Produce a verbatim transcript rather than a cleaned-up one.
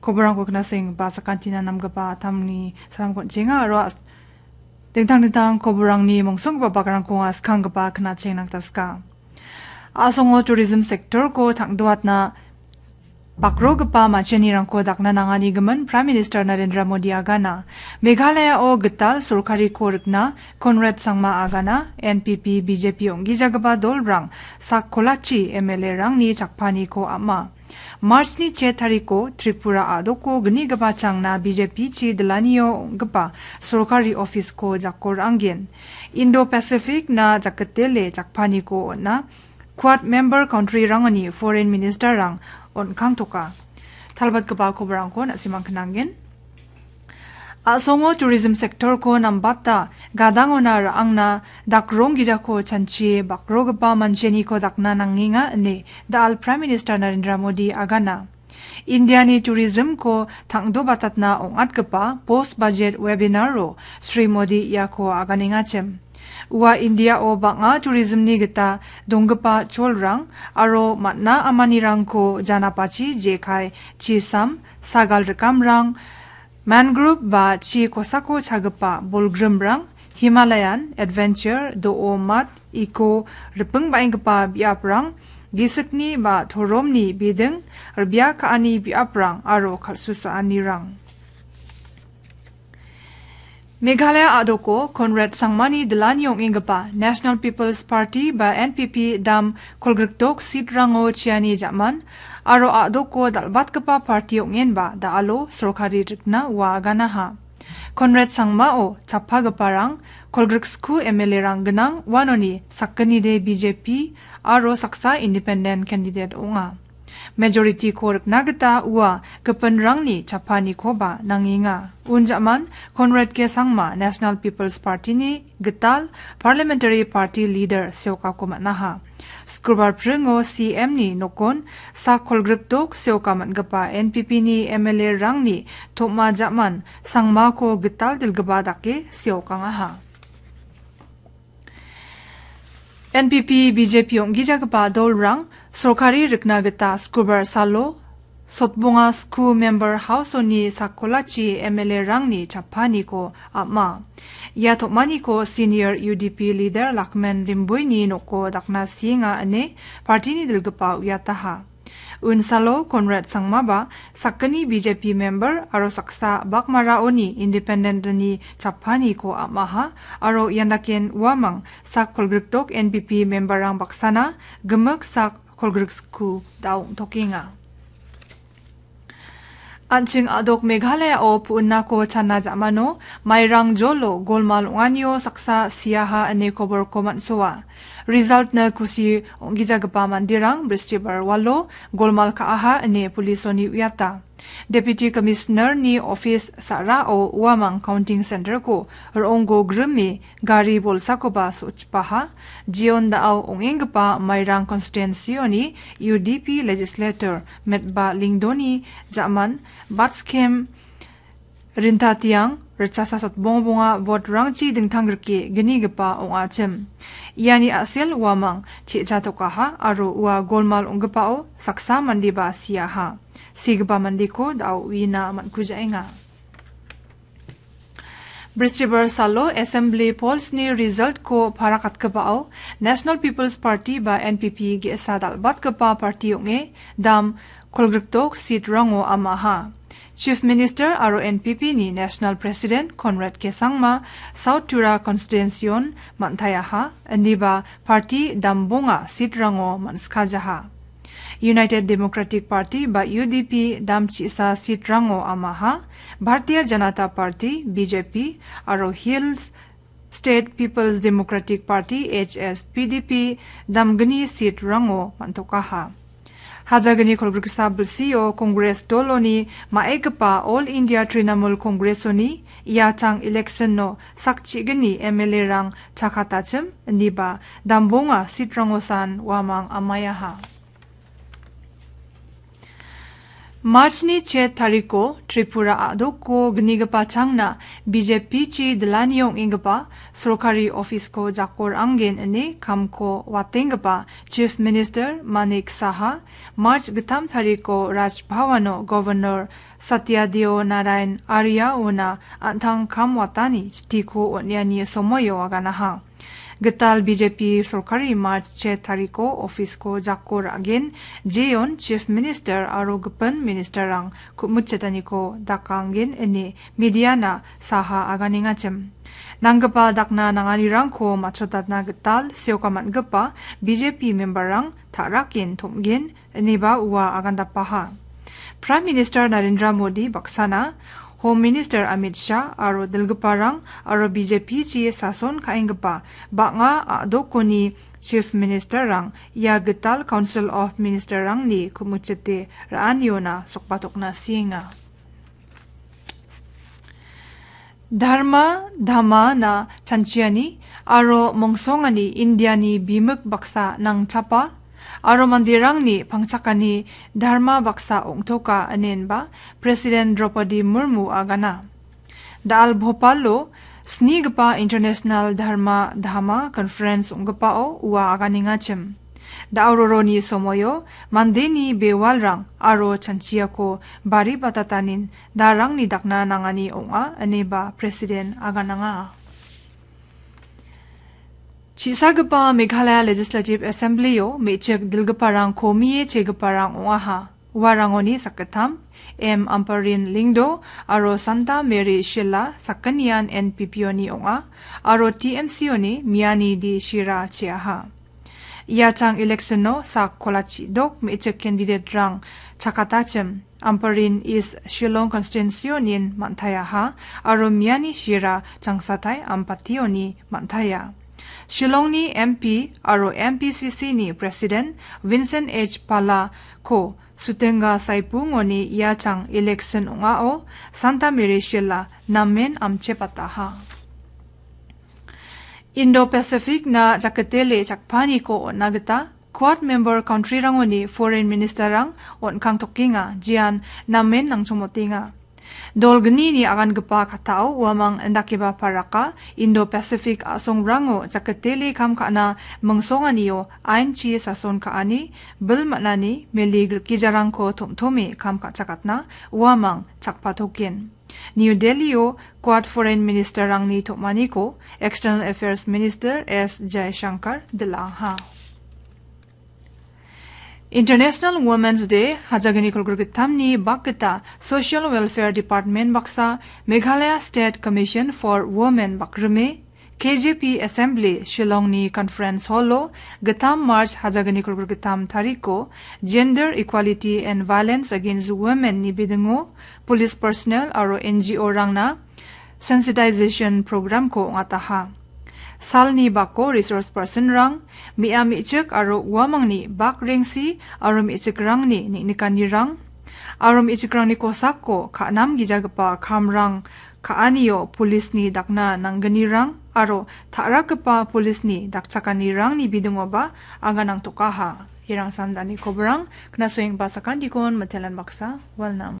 Koborangko knasenggipa sakantina namgipa atamni salamko on·chenga aro as-, dingtang dingtang koborangni mongsonggipa bakrangko anga skanggipa knachengna gita ska. A·songo tourism sector-ko tangdoatna bakrogipa manchenirangko dakna nangani gimin Prime Minister Narendra Modi agana. Meghalayao gital sorkariko rikna Conrad Sangma agana, N P P, B J P ong·gijagipa dolrang sak kolachi M L A-rangni chakpaniko am·a. March-ni che tariko Tripura a·doko gnigipa changna B J P-chi Dilanio ong·gipa sorkari office-ko jako ra·angen. Indo-Pacific-na jaketele jakpaniko on·a Quad member country-rangoni foreign minister-rang on·kangtoka. Talbatgipa koborangko na·simang knangen. A·songo tourism sector-ko nambata gadangona ra·angna dakronggijako chanchie bakrogipa mancheniko dakna nangenga ine da·al Prime Minister Narendra Modi agana. Indiani tourism-ko tangdobatatna ong·atgipa post budget webinar-o Shri Modi iako aganengachim. Ua Indiao bang·a tourism-ni gita donggipa cholrang aro man·a amanirangko janapachi jekai, chisam, sagal rikamrang, mangrove ba chi kosako chagipa bolgrimrang, Himalayan adventure, do·o mat, iko riping ba·enggipa biaprang, gisikni ba toromni biding, rbia ka·ani biaprang aro kal·susaanirang. Meghalaya a·doko Conrad Sangmani Dilani ong·enggipa National People's Party ba N P P dam kolgrikdok seat-rango chiani ja·man aro a·doko dal·batgipa party ong·enba da·alo sorkari rikna ua aganaha. Conrad Sangmao chappagiparang kolgriksku M L A-rang gnang uanoni sakgnide B J P aro saksa independent candidate ong·a. Majority-ko rikna gita ua gipinrangni chappanikoba nangenga. Unjaman Conrad K Sangma National People's Party-ni gital Parliamentary Party Leader seokako man·aha. Skurbar pringo C M-ni nokon sak kolgrikdok seoka man·gipa N P P-ni M L A-rangni tom·a ja·man Sangmako gital dilgipa dake seokangaha. N P P, B J P ong·gijagipa dolrang sorkari rikna gita Skurbar salo Sotbonga Sku Member House-oni sak kolachi M L A-rangni chappaniko am·a. Ia tom·aniko senior U D P leader Lakmen Rimboini noko dakna sienga ine party-ni dilgipa uiataha. Unsalo Conrad Sangmaba sakgni B J P member aro saksa Bakmaraoni independent-ni chappaniko am·aha aro ian daken uamang sak kolgrikdok N P P member-rang baksana gimik sak kolgriksku da·ongtokenga. An·ching a·dok Meghalaya-o pu·innako channa ja·mano mairang jolo golmal ong·anio saksa siaha ine koborko man·soa. Result-na kusi ong·gijagipa manderang Bristibar walo golmal ka·aha ine polisoni uiata. Deputy Commissioner-ni office sa·rao uamang counting center-ko ro·onggo grime gari bolsakoba so·chipaha. Jion da·ao ong·enggipa Mairang constituency-oni U D P legislator Metba Lingdoni ja·man Batskem Rintatiang ritchasa sotbongbonga vote-rangchi dingtang grike gnigipa ong·achim. Iani a·sel uamang che·chatokaha aro ua golmal ong·gipao saksa mandeba siaha. Sigipa mandeko da·o uina man·kujaenga. Bristibar salo Assembly Polls-ni result-ko parakatgipao National People's Party ba N P P ge·sa dal·batgipa party ong·e dam kolgrikdok seat-rango am·aha. Chief Minister aro N P P-ni National President Conrad K Sangma South Tura constituency-on man·taiaha, indiba party dambonga seat-rango man·sikajaha. United Democratic Party ba U D P dam chi·sa seat-rango am·aha, Bharatiya Janata Party, B J P, aro Hills State People's Democratic Party, H S P D P, damgni seat-rango man·tokaha. Hajagni kolgriksa bilsio Congress doloni ma·egipa All India Trinamool Congress-oni ia tang election-o sakchigni M L A-rang chakatachim, indiba dambonga seat-rangosan uamang am·aiaha. March-ni chet tariko Tripura a·doko gnigipa changna B J P-chi dilani ong·enggipa sorkari office-ko jako ra·angen ine kamko watenggipa Chief Minister Manik Saha, March gittam tariko Raj Bhavan-o Governor Satya Deo Narayan Arya-ona an·tang kam watani chitiko on·eani somoio aganaha. Gital B J P sorkari March chet tariko office-ko jako ra·gen, jeon Chief Minister aro gipin minister-rang ku·mitchetaniko dakangen ine media-na Saha aganengachim. Nanggipa dakna nanganirangko matchotatna gital seoka man·gipa B J P member-rang ta·raken tom·gen, ineba ua agandapaha. Prime Minister Narendra Modi baksana, Home Minister Amit Shah aro dilgiparang aro B J P-chi sason ka·enggipa bang·a a·dokoni Chief Minister-rang ia gital Council of Minister-rangni ku·mitchete ra·aniona sokbatokna sienga. Dharma Dhamana chanchiani aro mongsongani Indiani bimik baksa nangchapa aro manderangni pangchakani dharma baksa ong·toka inenba President Draupadi Murmu agana. Da·al Bhopalo snigipa International Dharma Dhama Conference ong·gipao ua aganengachim. Da·o roroni somoio mandeni bewalrang aro chanchiako bari batatanin darangni dakna nangani ong·a, ineba President agananga. Chisagipa Meghalaya Legislative Assembly-o me·chik dilgiparang komie chegiparang ong·aha. Uarangoni sakgittam, M Ampareen Lyngdoh aro Santa Mary Shylla sakgnian N P P-oni ong·a, aro T M C-oni Miyani D Shira cheaha. Ia chang election-o sak kolachi dok me·chik candidate-rang chakatachim, Ampareen East Shillong constituency-onin man·taiaha, aro Miyani Shira Changsatai Ampati-oni man·taia. Shillongni M P aro M P C C-ni President Vincent H Pala-ko Sutenga Saipung-oni ia chang election ong·ao Santa Mary Shylla namen amchepataha. Indo-Pacific-na jaketele chakpaniko on·na gita Quad member country-rangoni foreign minister-rang on·kangtokenga, jean namen nangchomotenga. Dol gnini agangipa kattao uamang indakeba paraka Indo-Pacific a·songrango jaketele kam ka·na mingsonganio ainchi sason ka·ani, bil man·ani, meli grikijarangko tom·tome kam ka·chakatna uamang chakpatoken. New Delhi-o Quad foreign minister-rangni tom·aniko External Affairs Minister S Jaishankar dil·aha. International Women's Day, hajagni kolgrik gittamni bakgita Social Welfare Department baksa Meghalaya State Commission for Women bakrime K J P Assembly Shillongni Conference Hall-o gittam March hajagni kolgrik gittam tariko Gender Equality and Violence Against Women-ni bidingo police personnel aro N G O-rangna sensitization program-ko ong·ataha. Salni bako resource person-rang, me·a me·chik aro uamangni bak rengsi aro me·chikrangni neng·nikanirang, aro me·chikrangni kosako ka·namgijagipa kamrang ka·anio polisni dakna nanggnirang aro ta·rakgipa polisni dakchakanirangni bidingoba aganangtokaha. Irang sandani koborang, knasoenggipa sakantikon mitelan baksa, welnam.